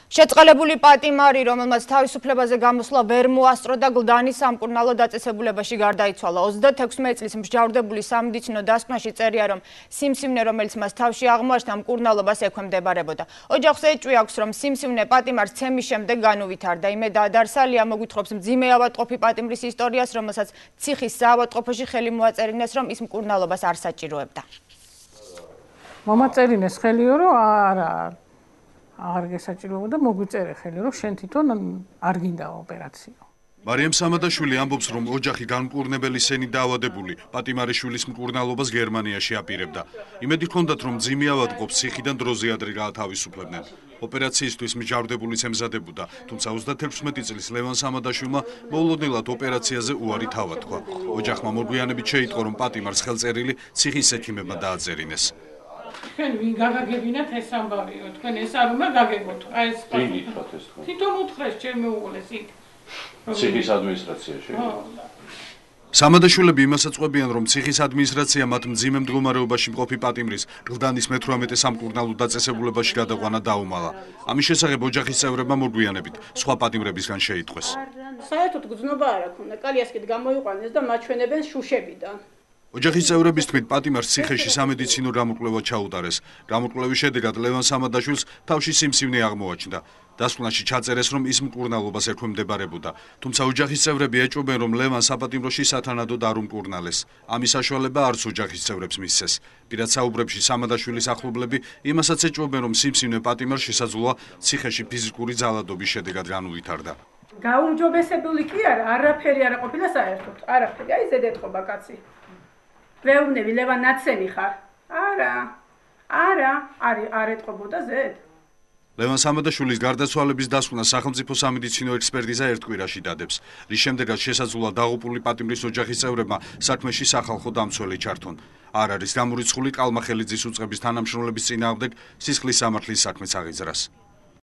შეწყალებული პატიმარი, რომელმაც თავისუფლებაზე გამოსვლა ვერ მოასწრო და გლდანის სამკურნალო დაწესებულებაში გარდაიცვალა. 36 წლის მსჯავრდებული სამედიცინო დასკვნაში წერია, რომ სიმსივნე, რომელიც მას თავში აღმოაჩნდა, მკურნალობას ექვემდებარებოდა. ოჯახს ეჭვი აქვს, რომ სიმსივნე პატიმარს ცემის შემდეგ განუვითარდა. იმე დაადარსალია მოგვითხრობს მძიმე ავადმყოფი პატიმრის ისტორიას, რომელსაც ციხის საავადმყოფოში ხელი მოაწერინეს, რომ ის მკურნალობას არ საჭიროებდა. მომაწერინეს ხელიო, რომ არა აღარ გესაჭიროებოდა, მოგვიწერე ხელი, რომ შენ თვითონ არ გინდა ოპერაციო. მარიამ სამადაშვილი ამბობს, რომ ოჯახი განმკურნებელი სენით დაავადებული პატიმარიშვილის მკურნალობას გერმანიაში აპირებდა. იმედი ჰქონდათ, რომ მძიმე ავადმყოფს ციხიდან დროზე ადრე გაათავისუფლებდნენ. ოპერაციისთვის მსჯავრდებული ემზადებოდა, თუმცა 36 წლის ლევან სამადაშვილმა მოულოდნელად ოპერაციაზე უარი თავად თქვა. ოჯახმა მოგვიანებით შეიტყო, რომ პატიმარს ხელწერილი ციხის ექიმებმა დააწერინეს. თქვენ ვინ გაგაგებინათ ეს ამბავიო, თქვენ ეს არ უნდა გაგებოთ. აი ეს თვითონ უთხრეს ჩემი უღლეს იქ. ციხის ადმინისტრაციაში. სამადაშვილები იმასაც ყვებიან, რომ ციხის ადმინისტრაცია მათ მძიმე მდგომარეობაში მყოფი პატიმრის გლდანის მე-18 სამკურნალო დაწესებულებაში გადაყვანა დაუმალა. ამის შესახებ ოჯახის წევრებმა მოგვიანებით სხვა პატიმრებისგან შეიტყვეს. საერთოდ გრძნობა არ აქვს, კალიასკით გამოიყვანეს და მაჩვენებენ შუშებიდან. ოჯახის წევრების თქმით, პატიმარს ციხეში სამედიცინო გამოკვლევა ჩაუტარეს. გამოკვლევის შედეგად ლევან სამადაშვილს თავში სიმსივნე აღმოაჩნდა. დასკვნაში ჩაწერეს, რომ ის მკურნალობას ექვემდებარებოდა. თუმცა ოჯახის წევრები ეჭვობენ, რომ ლევან საპატიმროში სათანადოდ არ უმკურნალეს. ამის საშუალება არც ოჯახის წევრებს მისცეს. პირად საუბრებში სამადაშვილის ახლობლები იმასაც ეჭვობენ, რომ სიმსივნე პატიმარს შესაძლოა ციხეში ფიზიკური ძალადობის შედეგად განუვითარდა. გაუმჯობესებული კი არა, არაფერი არ ყოფილა საერთოდ. არაფერი, აი ზედეთყობა კაცი. ვეუბნები, ლევან ნაცემი ხარ? არა, არ ეტყობოდა ზედ. ლევან სამადაშვილის გარდაცვალების დასკვნა სახელმწიფო სამედიცინო ექსპერტიზა ერთ კვირაში დადებს, რის შემდეგაც შესაძლოა დაღუპული პატიმრის ოჯახის წევრებმა საქმეში სახალხო დამცველი ჩართონ. არ არის გამორიცხული ყალმა ხელიძის უწყების თანამშრომლების წინააღმდეგ სისხლის სამართლის საქმეც აღიძრას.